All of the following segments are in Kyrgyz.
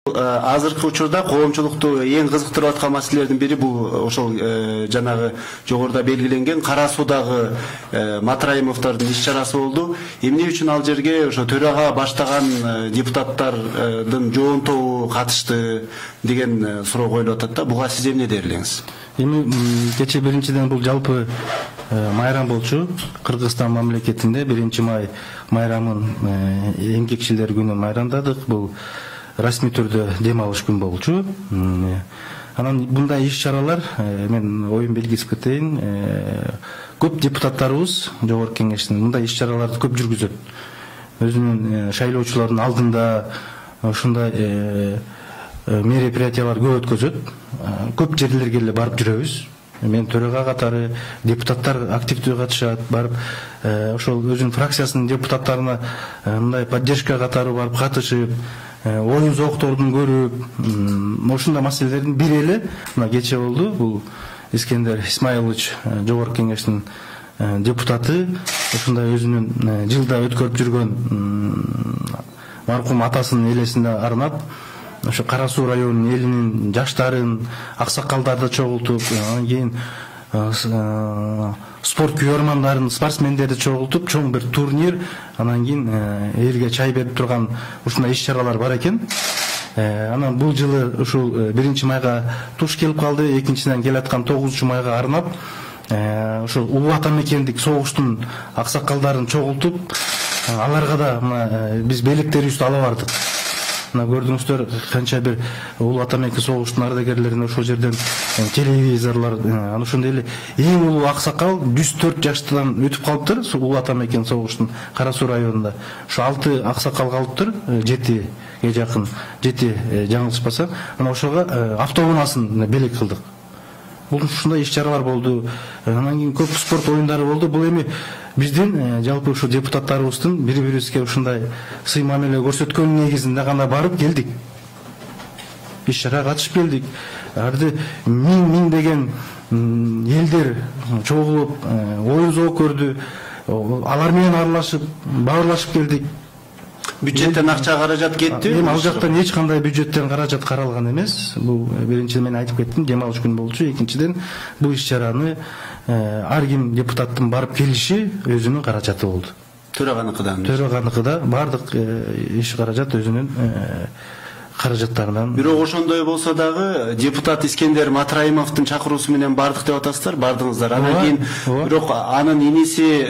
Азыркы учурда коомчулукту эң кызыктырып аткан маселелердин бири бул ошол жанагы жогоруда белгиленген Кара Суудагы Матраимовдордун иш чарасы болду. Эмне үчүн ал жерге ошо төрага баштаган депутаттардын жоон тобу катышты деген суроо коюлуп атат да. Буга сиз эмне дер элеңиз? Эми кече биринчиден бул жалпы майрам болчу. Кыргызстан мамлекетинде 1-май майрамын эмгекчилер күнү майрамдадык. Бул расмий түрдө дем алыш күн болчу. Анан мындай иш чаралар мен оюн белгисип кетейин. Көп депутаттарыбыз жогорку кеңештин мындай иш чараларды көп жүргүзөт. Өзүнүн шайлоочулардын алдында ушундай мероприятиялар көп өткөзөт. Көп жерлерге эле барып жүрөбүз. Мен төрага катары депутаттар активдүү катышат, барып ошол өзүнүн фракциясынын депутаттарына мындай поддержка катары барып катышып, оюн зооктордун көрүп, ушундай маселелердин бири эле мына кече болду. Бул Искендер Исмайлович жогорку кеңештин депутаты ушундай өзүнүн жылда өткөрүп жүргөн маркум атасынын элесине арнап ошо Кара Суу районунун элинин жаштарын, аксакалдарды чогултуп, анан кийин спорт күйөрмандарын, спортсмендерди чогултуп, чоң бир турнир, анан кийин элге чай берип турган ушундай иш чаралар бар экен. Анан бул жылы ушул 1-майга туш келип калды. Экинчиден келаткан 9-майга арнап ошол улуу ата мекендик согуштун аксакалдарын чогултуп, аларга да мына биз белектерибизди ала бардык. Мына көрдүңүздөр канча бир улуу ата мекен согуштун ардагерлерин ошол жерден телевизорлор, анан ошондой эле эң улуу аксакал 104 жаштан өтүп калыптыр. Улуу ата мекен согуштун Кара Суу районунда ошо 6 аксакал калыптыр, 7ге жакын, 7 жаңылышпасам. Анан ошого автоунаасын белек кылдык. Бул ушундай иш чаралар болду. Анан кийин көп спорт оюндары болду. Бул эми биздин жалпы ушу депутаттарыбыздын бири-бирибизге ушундай сый мамиле көрсөткөн негизинде гана барып келдик. Иш чарага катышып келдик. Арды миңдеген элдер чогулуп, оюн зоок көрдү. Алар менен аралашып, баарлашып келдик. Бюджеттен акча каражат кетти? Эми ал жактан эч кандай бюджеттен каражат каралган эмес. Бул биринчиден мен айтып кеттим, дем алыш күн болчу. Экинчиден бул иш чараны ар ким депутаттын барып келиши өзүнүн каражаты болду. Төраганыкыдан. Төраганыкыда бардык иш каражат өзүнүн каражаттарынан. Бирок ошондой болсо дагы депутат Искендер Матраимовдун чакыруусу менен бардык деп атасыздар, бардыңыздар. Анан кийин бирок анын иниси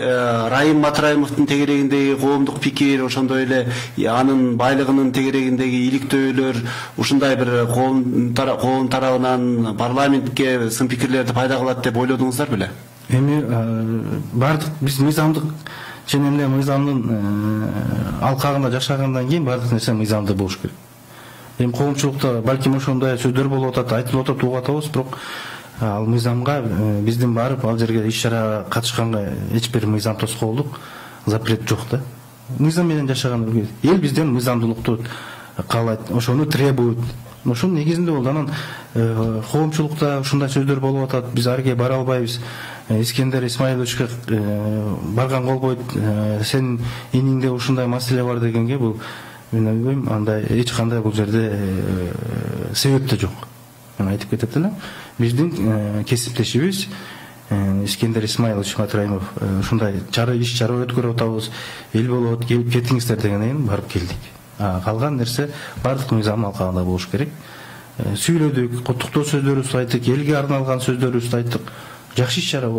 Райым Матраимовдун тегерегиндеги коомдук пикир, ошондой эле анын байлыгынын тегерегиндеги иликтөөлөр, ушундай бир коом тарабынан парламентке сын пикирлерди пайда кылат деп ойлодуңуздар беле? Эми бардык биз мыйзамдык ченем эле мыйзамдын алкагында жашагандан кийин бардык нерсе мыйзамдуу болуш керек. Эми коомчулукта балким ошондой сөздөр болуп атат, айтылып атат, угуп атабыз, бирок ал мыйзамга биздин барып ал жерге иш чарага катышканга эч бир мыйзам тоскоолдук запрет жок да. Мыйзам менен жашаган эл бизден мыйзамдуулукту каалайт, ошону требует. Ошонун негизинде болду. Анан коомчулукта ушундай сөздөр болуп атат, биз арге бара албайбыз. Искендер Исмайловичке барган болбойт, сен иниңде ушундай маселе бар дегенге бул мен ойлойм, андай эч кандай бул жерде себеп да жок. Мен айтып кетет элем. Биздин кесиптешибиз Искендер Исмайлович Матраимов ушундай иш чара өткөрүп атабыз, эл болот, келип кетиңиздер дегенден барып келдик. Калган нерсе бардык мыйзам алкагында болуш керек. Сүйлөдүк, куттуктоо сөздөрүбүздү айттык, элге арналган сөздөрүбүздү айттык. Жакшы иш чара.